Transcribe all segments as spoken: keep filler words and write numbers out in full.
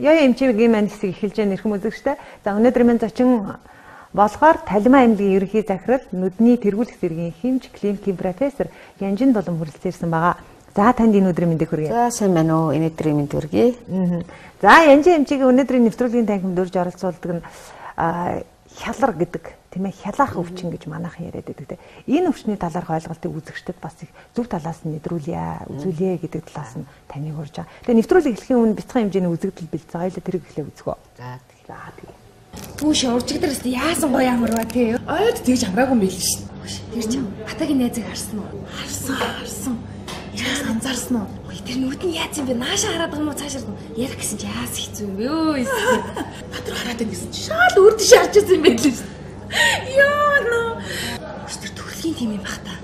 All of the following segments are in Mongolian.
Яа эмчигийн маань хэсэг эхэлж байгаа нэрхэм үзэгчтэй. За өнөөдөр минь зочин болохоор Талимаа аймгийн ерөнхий захирал нүдний тэргүүлэх зэргийн хэмж клиникийн профессор Янжин Долом хүрэлцээрсэн байгаа. За танд энэ өдрийн мэндийг хүргэе. За сайн байна уу? Энэ өдрийн мэнд хүргэе. За Янжин эмчигийн өнөөдрийн нэвтрүүлгийн танхимд урьж оролцуулдаг нь хялар гэдэг тийм ээ хялаах өвчин гэж манайхан яриад байдаг. Энэ өвчний талаарх ойлголтыг үзэгчдэд бас их зөв талаас нь нэдрүүлье, үзүүлье гэдэг талаас нь таныг урьж байгаа. Тэгээ нэвтрүүлэг эхлэхийн өмнө бяцхан хэмжээний үзэгдэл бэлдсэн. Хоёулаа тэрийг эхлэе үзгөө. За за тэгээ. Бүүш уржигдэрс яасан гоё амарва тий. Ойд тэгж амраагүй мэл шин. Тэр чинь Батагийн найзыг харсан уу? Харсан, харсан. Яас анзаарсан уу? Тэр нүд нь яаж юм бэ? Нааша хараад байгаа юм уу? Цаашаа ярих гэсэн чи яас хэцүү юм бэ? Өө эсвэл Батар хараад байна гэсэн чи шал үрдэ шаарч байсан юм байл шин. Яа нөө. Тэр төрөлхийн тийм юм бах та.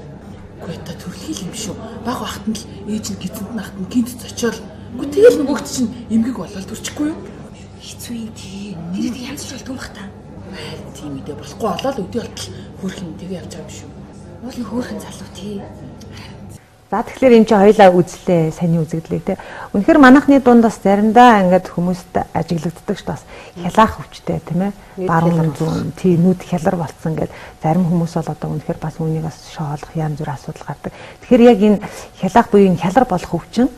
Үгүй та төрөлхийн юм шүү. Баг бахт нь л ээж нь гизэнд нь ахт нь гинт зочоол. Үгүй тэгэл нөгөөгт чинь эмгэг болол төрчихгүй юу? Хэцүү юм тий. Тэрийг янзч болдгүй бах та. Тийм үдэ болохгүй болол өдөө болтол хөөрхөн тэгээ явж байгаа юм шүү. Уул нь хөөрхөн залуу тий. За тэгэхээр энэ чинь хоёлаа үзлээ саний үзэгдлээ те. Үнэхээр манайхны дунд бас заримдаа ингээд хүмүүст ажиглагддаг ш бас хялаах өвчтэй тийм ээ. Баруун зүүн тий нүд хялар болцсон гэдэг зарим хүмүүс бол одоо үнэхээр бас үүнийг бас шоолох янз бүр асуудал гардаг. Тэгэхээр яг энэ хялаах буюу энэ хялар болох өвчин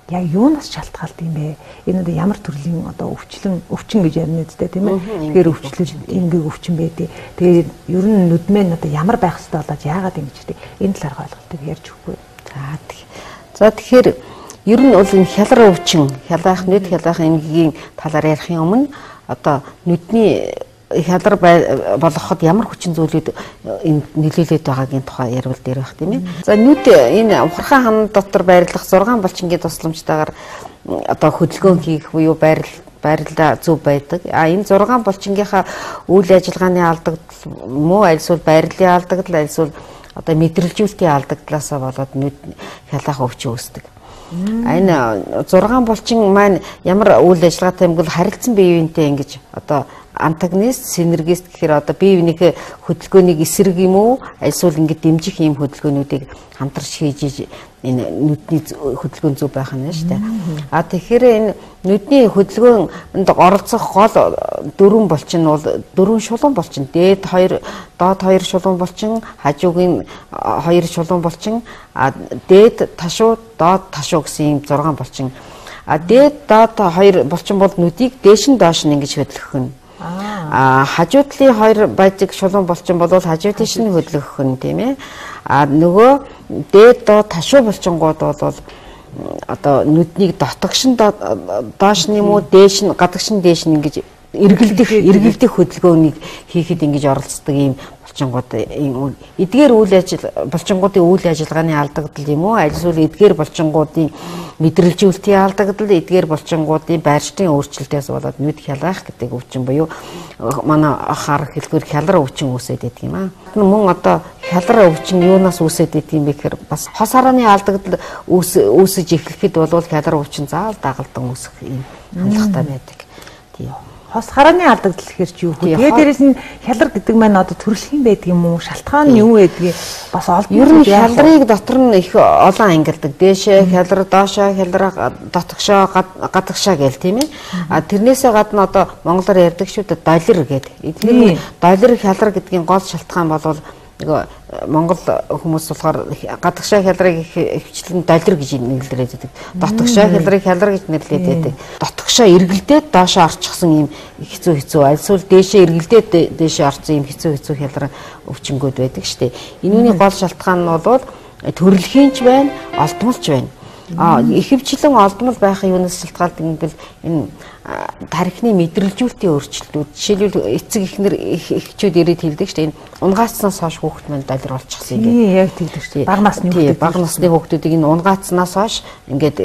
яг юунаас шалтгаалт юм бэ? Энэ одоо ямар төрлийн одоо өвчлөн өвчин гэж ярина үстэй тийм ээ. Тэгэхээр өвчлөл эмгэг өвчин байдیں۔ Тэгээд ер нь нүдмэн одоо ямар байх хэвээр болоод яагаад ингэж гэдэг энэ талаар ойлголтыг ярьж өгөхгүй. За тэгэхээр ер нь бол энэ хялар өвчин, хялаах нүд хялаах эмгэгийн талаар ярихын өмнө одоо нүдний хялар болгоход ямар хүчин зүйлүүд нөлөөлөд байгаагийн тухай ярил дээр байх тийм ээ. За нүд энэ ухархан хан дотор байрлах зургаан булчингийн тусламжтайгаар одоо хөдөлгөөн хийх буюу байрал байрлал зөв байдаг. А энэ зургаан булчингийнхаа үйл ажиллагааны алдагдал муу альсвал байрлалын алдагдал альсвал одоо мэдрэлжүүлэлтийн алдагдлаасаа болоод нүд хялаах өвчин үүсдэг. Энэ зургаан булчин маань ямар үйл ажиллагаатай юм бол харилцан бие биентэй ингэж одоо антагонист, синергист гэхээр одоо бие биенийхээ хөдөлгөөнийг эсрэг юм уу? Альсвал ингэ дэмжих юм хөдөлгөөнүүдийг хамтарч хийж энэ нүдний хөдөлгөөн зөв байх нь шүү дээ. А тэгэхээр энэ нүдний хөдөлгөөнд оролцох гол дөрвөн булчин бол дөрвөн шулуун булчин. Дээд хоёр, доод хоёр шулуун булчин, хажуугийн хоёр шулуун булчин, а дээд ташуу, доод ташуу гэсэн ийм зургаан булчин. А дээд доод хоёр булчин бол нүдийг дээш нь доош нь ингэж хөдөлгөх нь. А хажуу талын хоёр бажиг шулуун булчин бол хажуу тийш нь хөдөлгөх нь тийм ээ. А нөгөө дээд доод ташуу булчингууд бол одоо нүднийг дотогшин доош нь юм уу дээш нь гадагшин дээш нь ингэж эргэлдэх эргэлдэх хөдөлгөөнийг хийхэд ингэж оролцдог ийм булчингууд эдгээр үйл ажил булчингуудын үйл ажиллагааны алдагдал юм уу альсвал эдгээр булчингуудын мэдрэлжүүлэлтийн алдагдал эдгээр булчингуудын байршлын өөрчлөлтөөс болоод нүд хялаах гэдэг өвчин буюу манай хар хэлбэр хялар өвчин үүсээд байдаг юм аа. Мөн одоо хялар өвчин юунаас үүсээд байдаг юм бэ гэхээр бас хос харааны алдагдал үүсэж эхлэхэд бол хялар өвчин заавал дагалдан үүсэх юм хандлагатай байдаг. Тийм. Хос харааны алдагдал гэхэр чи юу вэ? Тэгээ дээрэс нь хялар гэдэг маань одоо төрөлхийн байдаг юм уу? Шалтгаан нь юу байдгийг бас олдсон. Ер нь хялрыг дотор нь их олон ангилдаг. Дээшээ хялар, доошоо хялар, дотогшоо, гадагшаа гээл тийм ээ. А тэрнээсээ гадна одоо монголоор ярьдаг шүү дээ доллар гэдэг. Эдгээр доллар хялар гэдгийн гол шалтгаан бол нөгөө монгол хүмүүс болохоор гадагшаа хялрыг хвчлэн доллар гэж нэрлээд байдаг. Дотогшоо хялрыг хялар гэж нэрлээд байдаг. Дотогшоо эргэлдээд доошоо орчихсон юм хэцүү хэцүү альсвал дээшээ эргэлдээд дээшээ орсон юм хэцүү хэцүү хялар өвчнгүүд байдаг шүү дээ. Энүүний гол шалтгаан нь бол төрөлхийнч байна, олдмолч байна. А ихэвчлэн олдмол байхын юунаас шалтгаалдаг юм бол энэ тархины мэдрэлжүүлэлтийн өөрчлөлтүүд жишээлбэл эцэг эхнэр эхчүүд ирээд хэлдэг шүү дээ. Энэ унгаацнаас хойш хүүхэд маань доллар болчихсон юм. Тийм яг тэгдэг шүү дээ. Бага насны хүүхдүүд бага насны хүүхдүүдийг энэ унгаацнаас хойш ингээд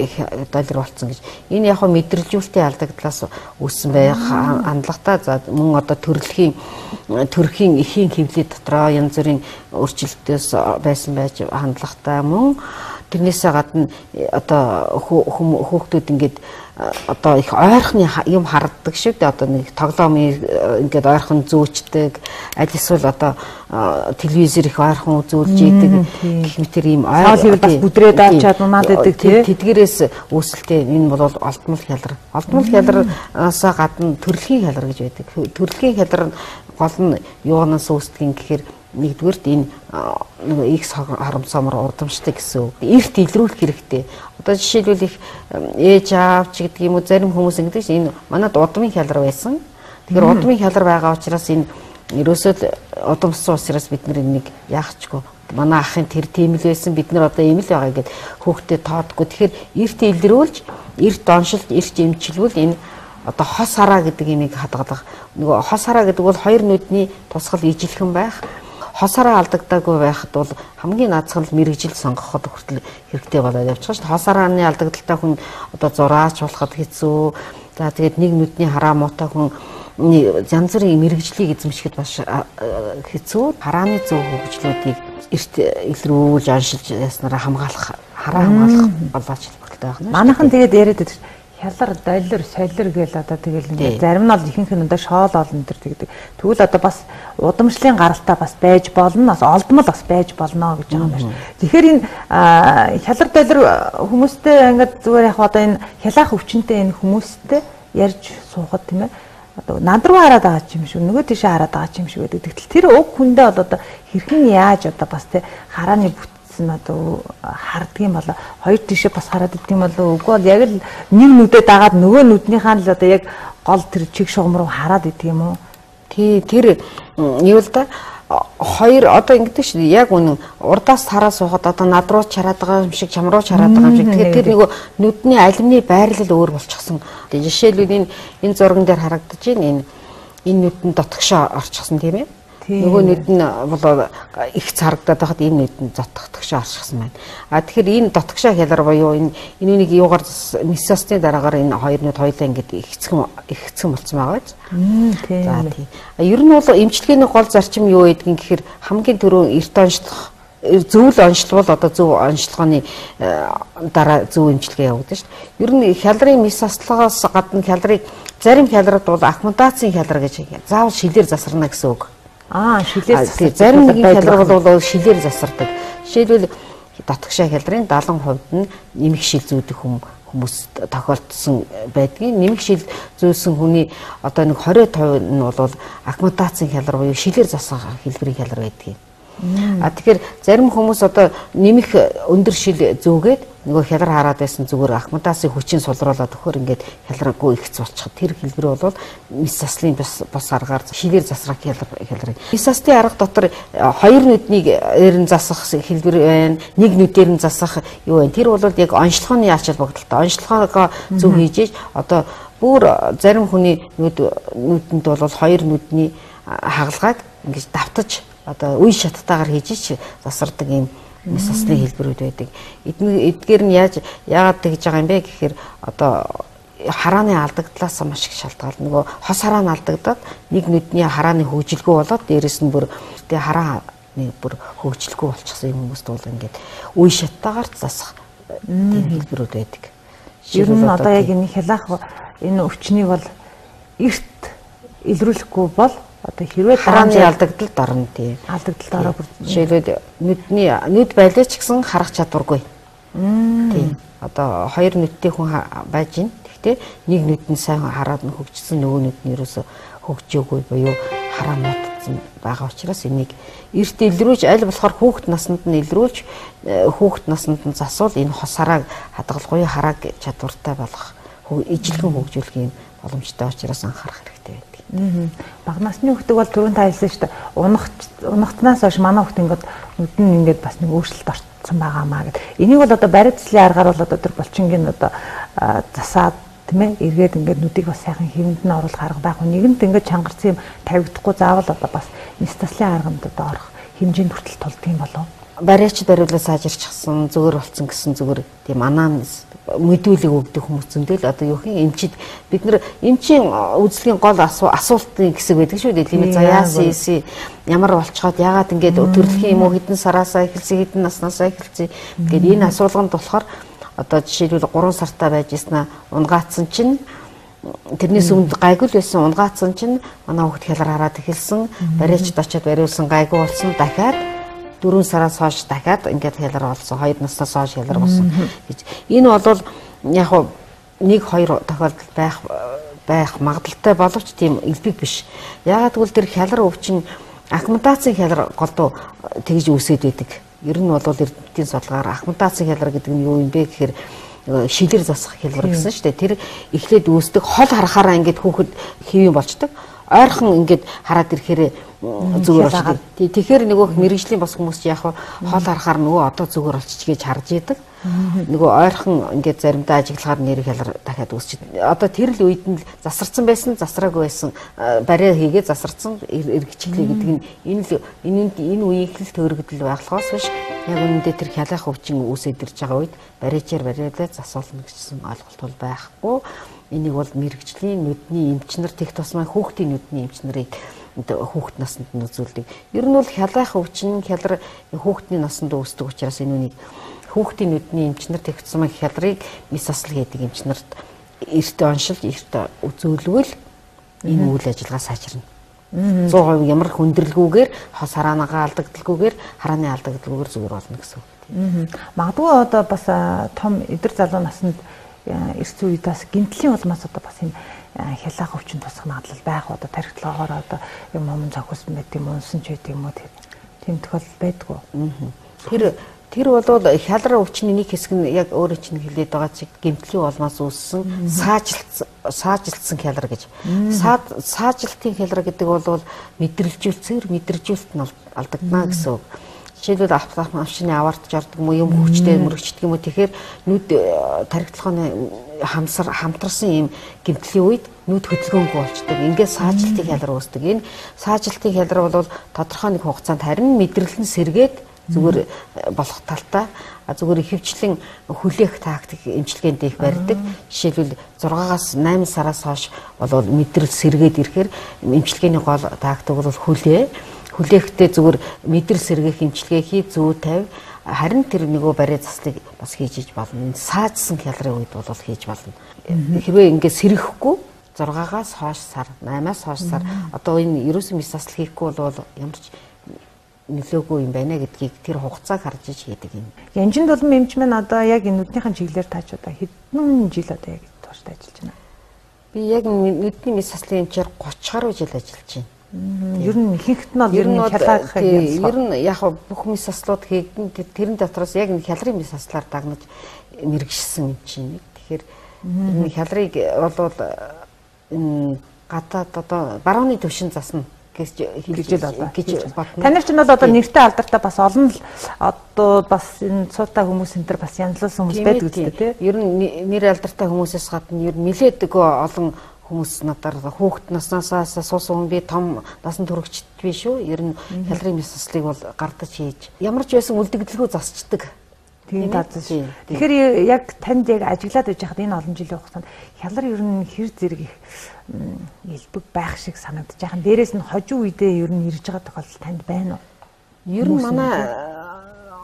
доллар болцсон гэж. Энэ яг хөө мэдрэлжүүлэлтийн алдагдлаас үүссэн байх хандлагатай. За мөн одоо төрөлхийн төрхийн эхийн хэвлэл дотроо янз бүрийн өөрчлөлтөөс байсан байж хандлагатай мөн тэрнээсээ гадна одоо хүүхдүүд ингээд одоо их ойрхны юм харддаг шүү дээ. Одоо нэг тоглоом ингээд ойрхон зүүчдэг, аль эсвэл одоо телевизээр их ойрхон үзүүлж идэг гэх мэт ийм ойрхон бас бүдрээд авчаад унаад идэг тий. Тэдгээрээс үүсэлтэй энэ бол олдмол хялар. Олдмол хялараас гадна төрөлхийн хялар гэж байдаг. Төрөлхийн хялар гол нь юунаас үүсдэг гэхээр нэгдүгээрт энэ нэг X харамсамар урдамштай гэсэн үг. Эрт илрүүлэх хэрэгтэй. Одоо жишээлбэл их ээж аав ч гэдэг юм уу зарим хүмүүс ингэдэг чинь энэ манад удмын хялар байсан. Тэгэхээр удмын хялар байгаа учраас энэ ерөөсөө удамсан учраас бид нар энийг яахчгүй манай ахын тэр тийм л байсан бид нар одоо ийм л байгаа гэд хүүхдэд тоодгүй. Тэгэхээр эрт илрүүлж, эрт оншилт, эрт эмчилвэл энэ одоо хос хараа гэдэг имийг хадгалах. Нөгөө хос хараа гэдэг бол хоёр нүдний тусгал ижилхэн байх. Хос хараа алдагдаагүй байхад бол хамгийн наазах нь мэрэгжил сонгоход хүртэл хэрэгтэй болоод явчих шүү дээ. Хос харааны алдагдaltaй хүн одоо зураач болоход хэцүү. За тэгээд нэг нүдний хараа муутай хүн янз бүрийн мэрэгжлийг эзэмшихэд бас хэцүү. Харааны зөв хөгжлүүдийг эрт илрүүлж оншилж яснараа хамгаалах, хараа хамгаалах болооч хэрэгтэй байна. Манайхан тэгээд яриад байдаг хялар, доллар, солир гээл одоо тэгэл ингээд зарим нь бол ихэнх нь одоо шоол олон төр тэгдэг. Тэгвэл одоо бас удамшлын гаралтай бас байж болно, бас олдмол бас байж болно гэж байгаа юм байна. Тэгэхээр энэ хялар, доллар хүмүүстэй ингээд зүгээр яг одоо энэ хялаах өвчнөд энэ хүмүүстэй ярьж суухад тийм ээ. Одоо над руу хараад байгаа юм шүү, нөгөө тийшээ хараад байгаа юм шүү гэдэг. Тэгтэл тэр уг хүндээ бол одоо хэрхэн яаж одоо бас тэ харааны одоо харддаг юм болоо хоёр тишээ бас хараад идэх юм болоо үгүй бол яг л нэг нүдээ дагаад нөгөө нүднийхаа л одоо яг гол тэр чиг шугам руу хараад идэх юм уу? Тий тэр юу л да хоёр одоо ингэдэг шүү дээ. Яг үнэн урдаас хараа суухад одоо над руу чараад байгаа юм шиг чам руу чараад байгаа юм шиг. Тэгэхээр тэр нөгөө нүдний алимны байрлал өөр болчихсон. Жишээлбэл энэ энэ зурган дээр харагдаж байна. Энэ энэ нүдэн дотгошоо орчихсон тийм ээ. Нөгөө нүд нь бол их царагдаад байхад энэ нүд нь зотгохтгшоо орчихсан байна. А тэгэхээр энэ дотгошоо хялар буюу энэ энэ үнийг юугаар месосны дараагаар энэ хоёр нүд хоёлаа ингээд ихцгэн ихцгэн болцсон байгаа биз. За тийм. Ер нь бол эмчилгээний гол зарчим юу гэдгийг гэхээр хамгийн түрүүн эрт онцлох зөв л онцлбол одоо зөв онцлогооны дараа зөв эмчилгээ явагдана шүү дээ. Ер нь хялрын месослогоос гадна хялрыг зарим хялрууд бол аккумуляцийн хялар гэж заавал шилээр засарна гэсэн үг. Аа, шилээр засардаг. Зарим нэгэн хялар бол шилээр засардаг. Жишээлбэл дотгошоо хялрын даалгавар хувьд нь нэмэх шил зүүдэг хүмүүс тохиолдсон байдгийг. Нэмэх шил зүүсэн хүний одоо нэг двадцать процент нь бол аккумуляцийн хялар буюу шилээр засах хэлбэрийн хялар байдгийг. А тэгэхээр зарим хүмүүс одоо нэмэх өндөр шил зүүгээд нөгөө хялар хараад байсан зүгээр аккумуляцийн хүчин сулруулаад өгөхөр ингээд хяларгүй ихц болчиход тэр хэлбэр бол месослын бас бас аргаар шилээр засрах хялар хялар. Месослын арга дотор хоёр нүднийг эрен засах хэлбэр байна. Нэг нүдээр нь засах юу байна. Тэр бол яг онцлогооны ач холбогдолтой. Онцлогоогоо зөв хийж одоо бүр зарим хүний нүд нүдэнд бол хоёр нүдний хагалгааг ингэж давтаж одоо үе шаттайгаар хийж засардаг юм месослын хэлбэрүүд байдаг. Эдгээр нь яаж яагаад тэгж байгаа юм бэ гэхээр одоо харааны алдагдлаас маш их шалтгаална. Нөгөө хос хараа нь алдагдаад нэг нүдний харааны хөгжилгүй болоод дээрэс нь бүр тэ харааны бүр хөгжилгүй болчихсон юм хүмүүст бол ингээд үе шаттайгаар засах тийм хэлбэрүүд байдаг. Ер нь одоо яг энэ хялаах энэ өвчнийг бол эрт илрүүлэхгүй бол одоо хэрвээ харааны алдагдалд орно тийм. Алдагдалд ороо бүр жишээлбэл нүдний нүд байлаа ч гэсэн харах чадваргүй. Тийм. Одоо хоёр нүдтэй хүн байж гин. Гэхдээ нэг нүд нь сайн хараад нь хөгжсөн нөгөө нүд нь ерөөсө хөгжөөгүй буюу хараа муудсан байгаа учраас энийг эрт илрүүлж аль болохоор хүүхэд наснд нь илрүүлж хүүхэд наснд нь засвал энэ хос харааг хадгалахгүй харааг чадвартай болгох ижилхэн хөгжүүлэх юм боломжтой учраас анхаарах хэрэгтэй байдаг. Бага насны хүүхдүүд бол түрүүн та хэлсэн шүү дээ. Унах унахтнаас хойш манай хүүхд ингээд нүд нь ингээд бас нэг өөрчлөлт орсон байгаамаа гэд. Энийг бол одоо бариацлын аргаар бол одоо тэр булчингийн одоо засаад тийм ээ эргээд ингээд нүдийг бас сайхан хэвэнд нь оруулах арга байх. Нэгэнт ингээд чангарсан юм тавигдахгүй заавал одоо бас месослын арганд одоо орох хэмжээнд хүртэл тулдаг юм болов. бариач бариулаа сайжирчихсан зүгээр болсон гэсэн зүгээр тийм анаамнес мэдүүлэг өгдөг хүмүүс зөндөл одоо юу хин эмчид бид нар эмчийн үйлчлэгийн гол асуултын хэсэг байдаг шүү дээ тийм ээ за яасан ийсэн ямар болцоход яагаад ингэж төрөлхийн юм уу хэдэн сараасаа эхэлсэн хэдэн наснаасаа эхэлсэн гэдэг энэ асуулганд болохоор одоо жишээлбэл гурван сартаа байж яснаа унгаацсан чинь тэрнээс өмнө гайгүй л байсан унгаацсан чинь манай хүүхд хялар хараад эхэлсэн бариачд очиод бариулсан гайгүй болсон дахиад дөрвөн сараас хойш дахиад ингээд хялар болсон хоёр наснаас хойш хялар болсон гэж энэ бол яг нэг хоёр тохиолдол байх байх магадaltaй боловч тийм элбэг биш ягаад гэвэл тэр хялар өвчин аккумуляцийн хялар голдуу тэгж үүсээд байдаг ер нь бол эрдэмтдийн судалгаар аккумуляцийн хялар гэдэг нь юу юм бэ гэхээр шилэр засах хялбар гэсэн шүү дээ. Тэр эхлээд үүсдэг хол харахаараа ингээд хүүхэд хэвэн болчдөг. Ойрхон ингээд хараад ирэхээр зүгээр болчдөг. Тэгэхээр нөгөө мэрэгжлийн бас хүмүүс яг хол харахаар нөгөө одоо зүгээр болчих гэж харж идэг. Нөгөө ойрхон ингээд заримдаа ажиглахаар нэр хялар дахиад үүсчихэд. Одоо тэр л үед нь засарсан байсан, засраагүй байсан бариа хийгээ засарсан эргэжлээ гэдэг нь энэ л энэ энэ үеийн л төрөгдөл байхлахаас биш яг үүндээ тэр хялах өвчин үүсээд ирж байгаа үед бариачаар бариулаад засуулна гэсэн ойлголт бол байхгүй. Энийг бол мэрэгжлийн нүдний эмч нар тех тусмаа хүүхдийн нүдний эмч нарыг хүүхэд наснд нь үзүүлдэг. Ер нь бол хялах өвчин хялар хүүхдийн наснд үүсдэг учраас энэ үнийг хүүхдийн нүдний эмч нар тех тусмаа хялрыг месасл гэдэг эмч нарт эрт оншилж эрт үзүүлвэл энэ үйл ажиллагаа сайжирна. сто процент ямар хүндрэлгүйгээр хос хараанагаа алдагдalgүйгээр харааны алдагдalgүйгээр зүгээр болно гэсэн үг. Магадгүй одоо бас том эдэр залуу наснд эрс үеэс гэмтлийн улмаас одоо бас юм хялах өвчин тусах магадлал байх одоо тархитлагоор одоо юм юм зохиосон байт юм унсан ч байт юм уу тийм тохиолдол байдгүй. Тэр тэр бол хялар өвчний нэг хэсэг нь яг өөрөө чинь хэлээд байгаа чиг гэмтлийн улмаас үүссэн саажилтсан саажилтсан хялар гэж. Саажилтын хялар гэдэг бол мэдрэлжүүлцээр мэдрэлжүүлэлт нь алдагдана гэсэн үг. Жишээлбэл автомашины аваарч ордог юм юм хүчтэй мөрөгчдөг юм уу тэгэхээр нүд тархитлагын хамсар хамтарсан юм гэмтлийн үед нүд хөдөлгөөнгүй болчдөг. Ингээд саажилтын хялар үүсдэг. Энэ саажилтын хялар бол тодорхой нэг хугацаанд харин мэдрэл нь сэргээд зүгээр болох талтай зүгээр ихэвчлэн хүлээх тактик эмчилгээнд их барьдаг. Жишээлбэл зургаагаас найман сараас хойш бол мэдрэл сэргээд ирэхээр эмчилгээний гол тактик бол хүлээ. Хүлээхдээ зүгээр мэдрэл сэргээх эмчилгээ хий зүү тавь. Харин тэр нөгөө бариа заслыг бас хийж иж болно. Саажсан хялрын үед бол хийж болно. Хэрвээ ингээд сэргэхгүй зургаагаас хойш сар, наймаас хойш сар одоо энэ ерөөсөн месасл хийхгүй бол ямар ч нөлөөгүй юм байна гэдгийг тэр хугацааг харж иж хийдэг юм. Янжин дулам эмч маань одоо яг энэ нүднийхэн чиглэлээр тааж одоо хэдэн жил одоо яг тууштай ажиллаж байна. Би яг нүдний месаслын эмчээр гуравч гаруй жил ажиллаж байна. Ер нь ихэнх нь бол ер нь хялах ер нь яг бүх месаслууд хийгдэн тэрэн дотроос яг энэ хялрын месаслаар дагнаж мэрэгшсэн юм чинь. Тэгэхээр энэ хялрыг бол энэ гадаад одоо барууны төвшин засна гэж хэлж байна. Танайч нь бол одоо нэртэй алдартай бас олон л одоо бас энэ цуутай хүмүүс энэ төр бас янзлуулсан хүмүүс байдаг үстэй тий. Ер нь нэр алдартай хүмүүсээс гадна ер нь нэлээдэггүй олон хүмүүс надаар хүүхэд наснаас суусан хүн би том насан туршид би шүү. Ер нь хялрын месаслыг бол гардаж хийж ямар ч байсан үлдэгдэлгүй засчдаг. Тийм дазсан шүү. Тэгэхээр яг танд яг ажиглаад байж хаад энэ олон жилийн хугацаанд хялар ер нь хэр зэрэг их элбэг байх шиг санагдаж байгаа. Дээрээс нь хожуу үедээ ер нь ирж байгаа тохиолдол танд байна уу? Ер нь манай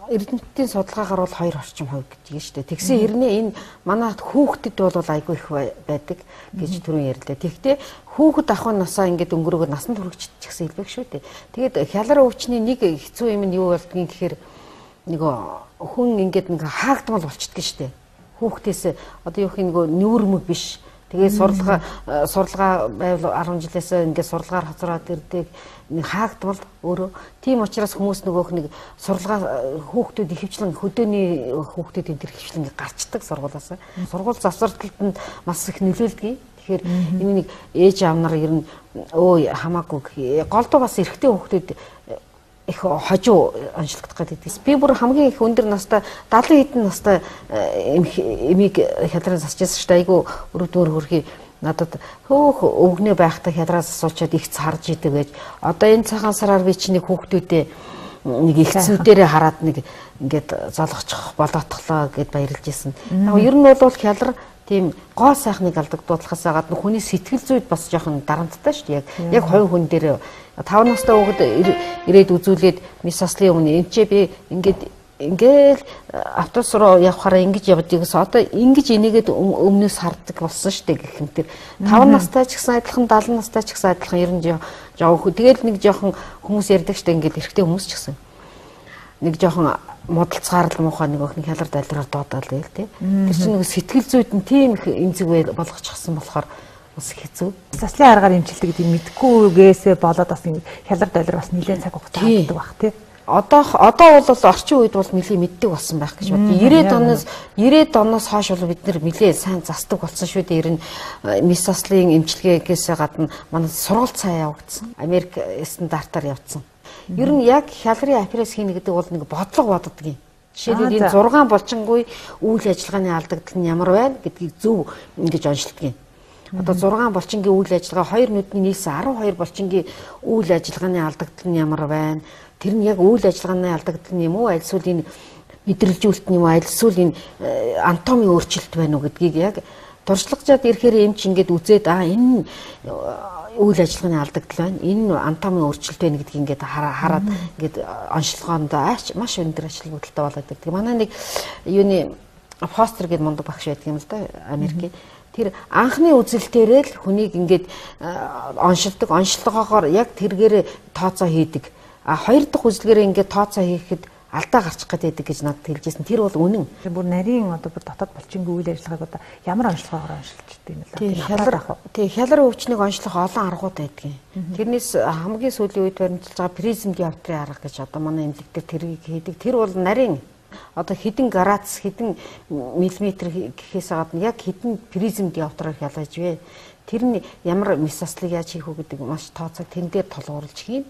эрдэмтдийн судалгаагаар бол хоёр орчим хувь гэдэг шүү дээ. Тэгсэн хэрнээ энэ манай хүүхдэд бол айгүй их байдаг гэж түрүүн ярьлаа. Тэгвэл хүүхэд ахын насаа ингээд өнгөрөөгөө насан туршид ч гэсэн элбэг шүү дээ. Тэгээд хялар өвчний нэг хэцүү юм нь юу болдгийг гэхээр нөгөө хүн ингээд нэг хаагдмал болчдөг шүү дээ. Хүүхдээс одоо юу гэх нэг нүүрмэг биш. Тэгээ сурлагаа сурлагаа байвал арван жилээс ингээд сурлагаар хоцроод ирдэг нэг хаагдмал өөрөө. Тийм учраас хүмүүс нөгөөх нэг сурлагаа хүүхдүүд ихэвчлэн хөдөөний хүүхдүүд энэ төр ихэвчлэн гарчдаг сургуулаас. Сургууль завсралтанд маш их нөлөөлдөг. Тэгэхээр энэ нэг ээж аав нар ер нь өө хамаагүй голдуу бас эрэгтэй хүүхдүүд их хожуу онцлогдох гэдэг. Би бүр хамгийн их өндөр настай дадлан хэдэн настай эмийг хялрын засчихсан шүү дээ. Айгу өрөвдмөр хөрхий надад хөөх өвгнээ байхдаа хялраас асуучаад их царж идэг гэж. Одоо энэ цагаан сараар би чиний хүүхдүүдээ нэг ихсэн дээрээ хараад нэг ингээд золгочих болоотглоо гэд баярлж исэн. Яг ер нь бол хялар тийм гоо сайхныг алдагдуулахаас гадна хүний сэтгэл зүйд бас жоохон дарамттай шүү дээ. Яг яг хувь хүн дээр таван настай хүүхэд ирээд үзүүлээд мис аслын өмнө энэ ч би ингээд ингээл автобус руу явхаараа ингэж явдаг гэсэн одоо ингэж энийгээд өмнөөс харддаг болсон шүү дээ гэх юм тэр таван настай ч гэсэн адилхан даалан настай ч гэсэн адилхан ер нь жоо тэгэл нэг жоохон хүмүүс ярьдаг шүү дээ ингээд эрэгтэй хүмүүс ч гэсэн нэг жоохон модалцгаар л муухай нэг охин хялар дайлраар доодаал байл тий тэр чинь нэг сэтгэл зүйд нь тийм их эмзэг болгочихсон болохоор бас хэцүү. Заслын аргаар эмчилдэг гэдэг мэдхгүйгээсээ болоод бас хялар дайлар бас нэлээд цаг хугацаа авдаг бах тий. Одоо одоо бол орчин үед бол нэлээ мэддэг болсон байх гэж бодъё. девяносто оноос девяносто оноос хойш бол бид нэр нэлээ сайн застдаг болсон шүү дээ. Ер нь мис аслын эмчилгээгээс гадна манай сургалт цаа явагдсан. Америк стандартаар явцсан. Ер нь яг хялрын операц хийнэ гэдэг бол нэг бодлого боддог юм. Жишээлбэл энэ зургаан болчингүй үйл ажиллагааны алдагдал нь ямар байна гэдгийг зөв ингэж онцлдог юм. Одоо зургаан болчингийн үйл ажиллагаа хоёр нүдний нийлсэн арван хоёр болчингийн үйл ажиллагааны алдагдал нь ямар байна? Тэр нь яг үйл ажиллагааны алдагдал нь юм уу? Аль эсвэл энэ мэдрэлжүүлэлт нь юм уу? Аль эсвэл энэ анатомийн өөрчлөлт байна уу гэдгийг яг туршлагажаад ирэхээр эмч ингээд үзээд аа энэ үйл ажиллагааны алдагдал байна. Энэ анатомийн өөрчлөлт байна гэдгийг ингээд хараад ингээд онцлогоонд маш өндөр ажил бүтэлтэй болоод байдаг. Манай нэг юуны Фостер гэдэг мундаг багш байдаг юм л да Америкийн. Тэр анхны үзэлтээрээ л хүнийг ингээд оншилдог, онцлогоогоор яг тэргээр тооцоо хийдэг. А хоёр дахь үзлэгээрээ ингээд тооцоо хийхэд алдаа гарчих гэдэг гэж надад хэлжсэн. Тэр бол үнэн. Бүр нарийн одоо бүр дотоод болчингийн үйл ажиллагааг одоо ямар онцлогоогоор оншилждаг юм бэ? Тийм хялар тийм хялар өвчнийг онцлох олон аргууд байдаг. Тэрнээс хамгийн сүүлийн үед баримтжилж байгаа призм диоптрийн арга гэж одоо манай эмнэлэгтэр тэрийг хийдэг. Тэр бол нарийн одоо хэдэн градус хэдэн миллиметр гэхээс гадна яг хэдэн призм диоптраар хялгаж вэ? Тэр нь ямар мис аслыг яаж хийх вэ гэдэг маш тооцоо тэн дээр толгуурлж хийн.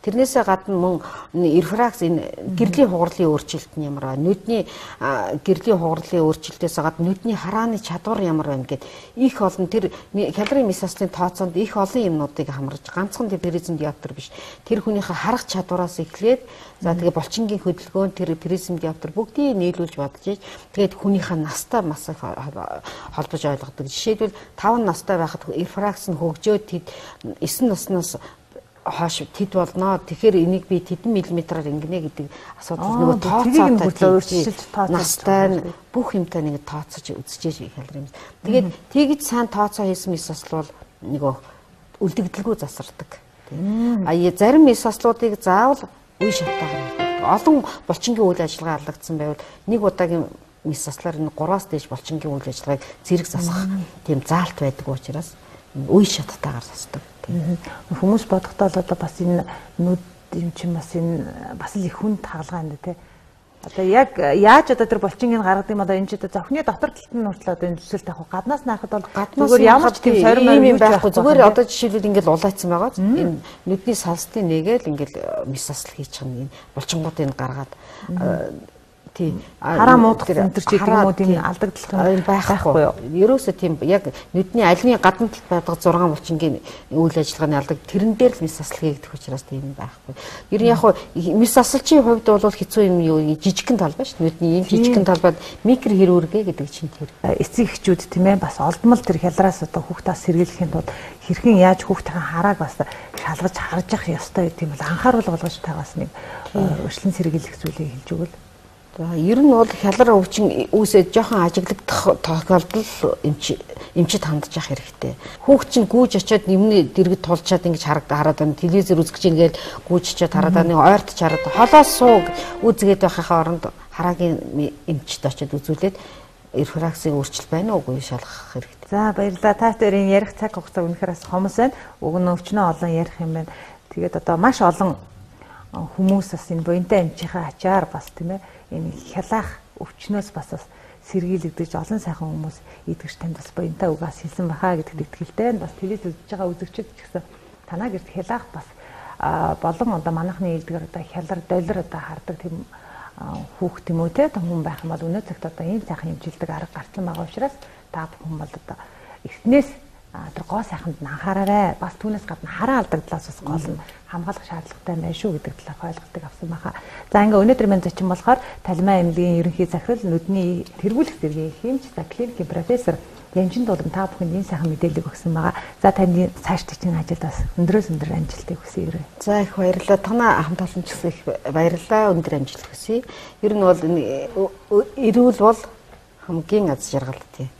Тэрнээсээ гадна мөн рефракс энэ гэрлийн хугарлын өөрчлөлт нь ямар вэ? Нүдний гэрлийн хугарлын өөрчлөлтөөс гадна нүдний харааны чадвар ямар байна гэд их олон тэр хялрын мис аслын тооцоонд их олон юмнуудыг хамарж ганцхан призм диоптер биш. Тэр хүнийхээ харах чадвараас эхлээд за тэгээ болчингийн хөдөлгөөн тэр призм диоптер бүгдийг нийлүүлж бодож ийж тэгээд хүнийхээ настай бас холбож ойлгодог. Жишээлбэл таван настай байхад рефракс нь хөгжөөд тэд эсрэг наснаас хойш тэд болно. Тэгэхээр энийг би тэдэн миллиметраар ингэнэ гэдэг асуудал нөгөө тооцоотой настай бүх юмтай нэг тооцож үзчихэж хялар юм. Тэгээд тэгж сайн тооцоо хийсэн мис асл бол нөгөө үлдэгдэлгүй засардаг. А зарим мис аслуудыг заавал үе шатаагаар олон болчингийн үйл ажиллагаа алдагдсан байвал нэг удаагийн мис аслаар энэ гураас дээш болчингийн үйл ажиллагааг зэрэг засах тийм заалт байдаг учраас үе шаттайгаар засдаг. Хүмүүс бодохдоо л одоо бас энэ нүд юм чинь бас энэ бас л их хүнд хаалгаа юм да тий. Одоо яг яаж одоо тэр болчингийг гаргадаг юм одоо энэ ч одоо зөвхний дотор талд нь хүртэл одоо энэ төсөл тавих гаднаас наахад бол зүгээр ямар ч тийм сорим юм байхгүй зүгээр одоо жишээлбэл ингээл улайцсан байгаа. Энэ нүдний салстын нэгээл ингээл мис асл хийчих юм. Энэ болчингуудыг гаргаад тий хараа муудах энэ төр ч гэдэг юм уу тийм алдагдaltaй байхгүй юу. Ерөөсөө тийм яг нүдний альвын гадна талд байдаг зургаан болчингийн үйл ажиллагааны алдаг тэрэн дээр л мис асл хийгдэх учраас тийм байхгүй. Ер нь яг хуу мис аслчийн хувьд бол хэцүү юм юу жижигхэн талбай шүү. Нүдний ийм жижигхэн талбайд микро хэрүүргээ гэдэг чинь тэр. Эцэг эхчүүд тийм ээ бас олдмол тэр хялраас одоо хүүхдээс сэргийлэхийн тулд хэрхэн яаж хүүхдийн харааг бас шалгаж харж явах ёстой гэдэг юм бол анхаарал болгож тагаас нэг өршлөн сэргийлэх зүйлийг хэлж өгвөл. За ер нь бол хялар өвчин үүсээд жоохон ажиглагдах тохиолдол эмч эмчид хандж явах хэрэгтэй. Хүүхд чинь гүйж очиод нэмний дэргэд тулчаад ингэж хараад байна. Телевизээр үзэж ийн гээл гүйж очиод хараад байна. Ойртож хараад холоос сууг үзгээд байхын оронд хараагийн эмчид очиод үзүүлээд рефраксыг өөрчил байна уугүй шалгах хэрэгтэй. За баярлалаа. Та хоёрын ярих цаг хугацаа үнэхээр бас хомос байна. Уг нь өвчнөө олон ярих юм байна. Тэгээд одоо маш олон хүмүүс бас энэ буянтай эмчийнхаа ачаар бас тийм ээ энэ хялаах өвчнөөс бас бас сэргийлэгдэж олон сайхан хүмүүс идэгч танд бас буянтай угаас хэлсэн бахаа гэдэгт итгэлтэй бас телевиз үзэж байгаа үзэгчид ч гэсэн танаа гэрт хялаах бас болон одоо манайхны илдгээр одоо хялар доллар одоо хардаг тийм хүүхд юм уу те хүн байх юм бол өнөө цагт одоо ийм сайхан хэмжилдэг арга гарсан байгаа учраас та бүхэн бол одоо эхнээс тэр гоо сайханд нь анхаараарай. Бас түүнээс гадна хараа алдагдлаас бас гол нь хамгаалах шаардлагатай байна шүү гэдэг талаар ойлголтыг авсан байхаа. За ингээ өнөөдөр маань зочин болохоор Талимаа эмнэлгийн ерөнхий захирал нүдний тэргүүлэх зэргийн хэмж за клиникийн профессор Янжин Дулам та бүхэнд энэ сайхан мэдээллийг өгсөн байгаа. За таны цаашдын чинь ажилд бас өндрөөс өндөр амжилтыг хүсье. За их баярлалаа. Танаа хамт олон ч гэсэн их баярлалаа. Өндөр амжилт хүсье. Ер нь бол энэ эрүүл бол хамгийн аз жаргал тий.